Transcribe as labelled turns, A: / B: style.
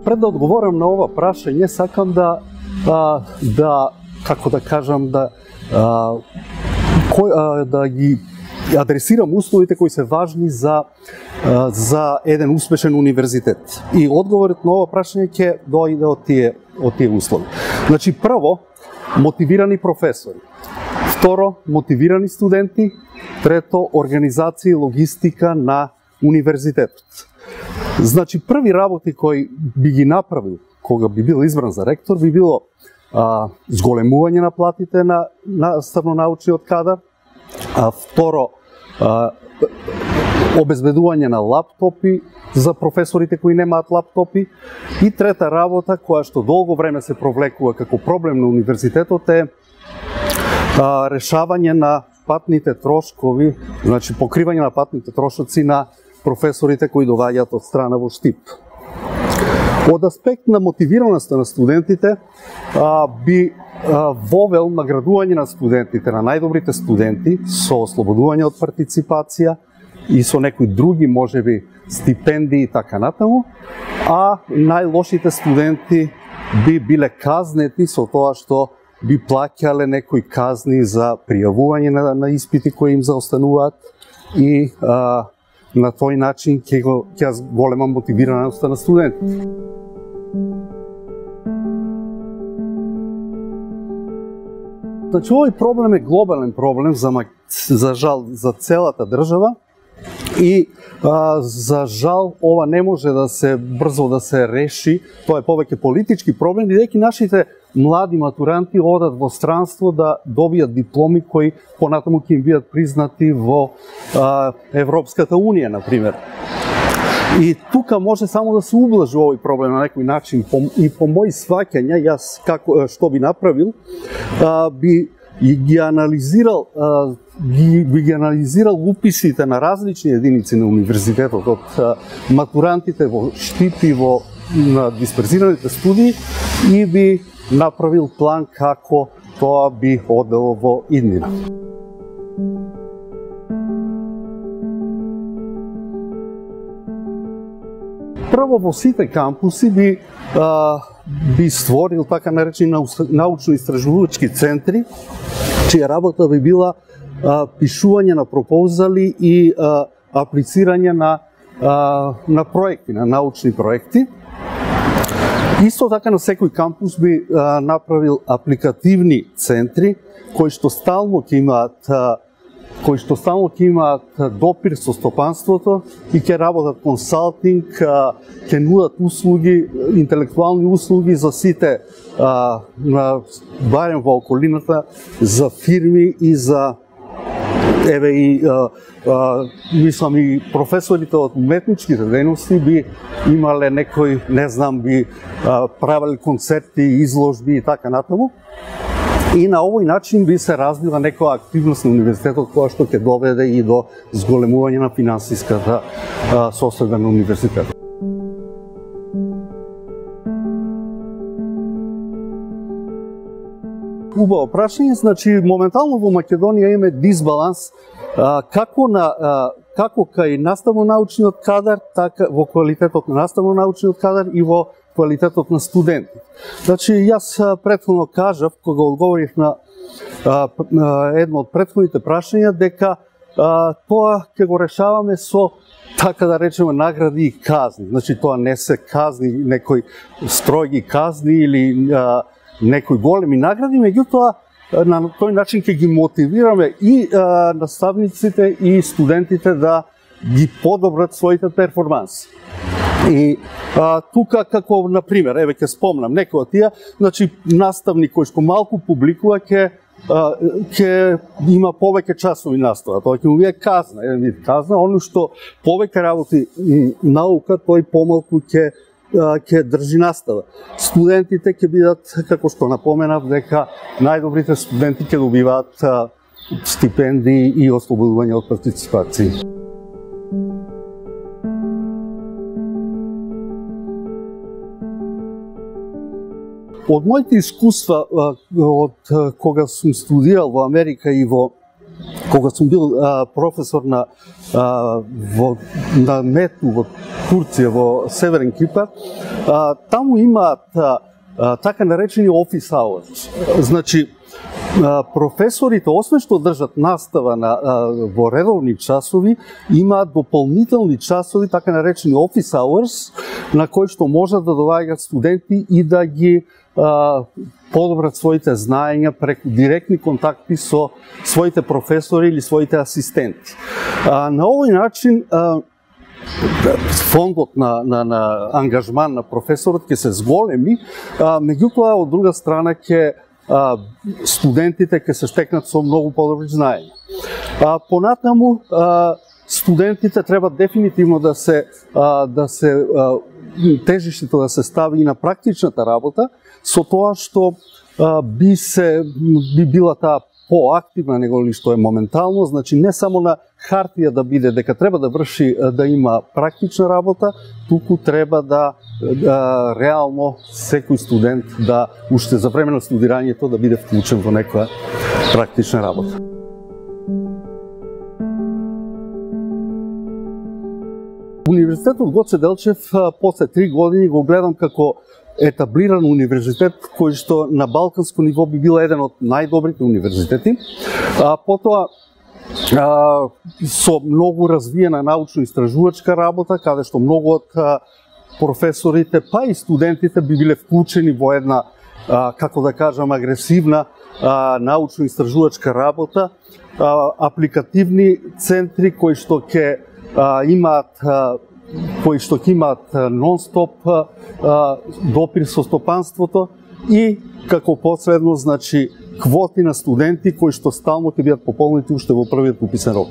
A: Пред да одговорам на ова прашање, сакам да како да кажам, да ги адресирам условите кои се важни за еден успешен универзитет. И одговорот на ова прашање ќе дојде од тие услови. Значи, прво, мотивирани професори. Второ, мотивирани студенти. Трето, организација и логистика на универзитетот. Значи, први работи кои би ги направил кога би бил избран за ректор, би било зголемување на платите на наставно-научниот кадар, второ, обезбедување на лаптопи за професорите кои немаат лаптопи, и трета работа, која што долго време се провлекува како проблем на универзитетот, е решавање на патните трошкови, значи покривање на патните трошоци на професорите кои доаѓаат од страна во Штип. Од аспект на мотивираноста на студентите, би вовел наградување на студентите, на најдобрите студенти, со ослободување од партиципација и со некои други, можеби, стипендии и така натаму, а најлошите студенти би биле казнети со тоа што би плаќале некои казни за пријавување на испити кои им заостануваат и на тој начин ќе голема мотивираноста на студентите. Значи, овој проблем е глобален проблем, за жал, за целата држава, и за жал ова не може да се брзо да се реши. Тоа е повеќе политички проблем, бидејќи нашите млади матуранти одат во странство да добијат дипломи кои понатаму ќе им бидат признати во Европската унија, например. И тука може само да се ублажи овој проблем на некој начин, и по мои сваќања, јас што би направил, би ги анализирал уписите на различни единици на универзитетот, од матурантите во Штип и на дисперзираните студии, и би направил план како тоа би одело во иднина. Прво, во сите кампуси би створил така наречени научно-истражувачки центри, чија работа би била пишување на пропозали и аплицирање на проекти, на научни проекти. Исто така на секој кампус би направил апликативни центри кои што стално ќе имаат допир со стопанството и ќе работат консалтинг, ќе нудат услуги, интелектуални услуги за сите, барем во околината, за фирми и за мислам и професорите од уметничките дејности би имале некој, не знам, би правили концерти, изложби и така натаму. И на овој начин би се развила некоја активност на универзитетот која што ќе доведе и до зголемување на финансиската состојба на универзитетот. Убаво прашање, значи моментално во Македонија има дисбаланс како кај наставно-научниот кадар, така во квалитетот на наставно-научниот кадар и во квалитетот на студенти. Значи, јас претходно кажав, кога одговорив на едно од претходните прашања, дека тоа ќе го решаваме со, така да речеме, награди и казни. Значи, тоа не се казни, некои строги казни или некои големи награди, меѓутоа на тој начин ќе ги мотивираме и наставниците и студентите да ги подобрат своите перформанси. И тука, како, например, еве ќе спомнам некој од тие, значи, наставник кој што малку публикува ќе има повеќе часови настава, тоа ќе му биде казна, еден вид казна, оно што повеќе работи наука, тој помалку ќе држи настава. Студентите ќе бидат, како што напоменав, дека најдобрите студенти ќе добиваат стипендии и ослободување од партиципација. Од моите искуства од кога сум студирал во Америка и во кога сум бил професор на МЕТУ во Турција, во Северен Кипар, таму имаат така наречени office hours. Значи, професорите, освен што држат настава во редовни часови, имаат дополнителни часови, така наречени office hours, на кои што можат да доаѓаат студенти и да ги подобрат своите знаења преку директни контакти со своите професори или своите асистенти. На овој начин фондот на ангажман на професорот ќе се зголеми, меѓутоа од друга страна ќе студентите ќе се стекнат со многу подобри знаења. Понатаму студентите треба дефинитивно да се тежиштето да се стави и на практичната работа, со тоа што би била таа поактивна него ли што е моментално, значи не само на хартија да биде дека треба да врши, да има практична работа, туку треба да реално секој студент да уште за време на студирањето да биде вклучен во некоја практична работа. Универзитетот Гоце Делчев после 3 години го гледам како етаблиран универзитет кој што на балканско ниво би бил еден од најдобрите универзитети. Потоа со многу развиена научно-истражувачка работа, каде што многу од професорите, па и студентите би биле вклучени во една, како да кажам, агресивна научно-истражувачка работа, апликативни центри кои што ќе имаат нон-стоп допир со стопанството и како последно, значи, квоти на студенти кои што стално ќе бидат пополнети уште во првиот уписен рок.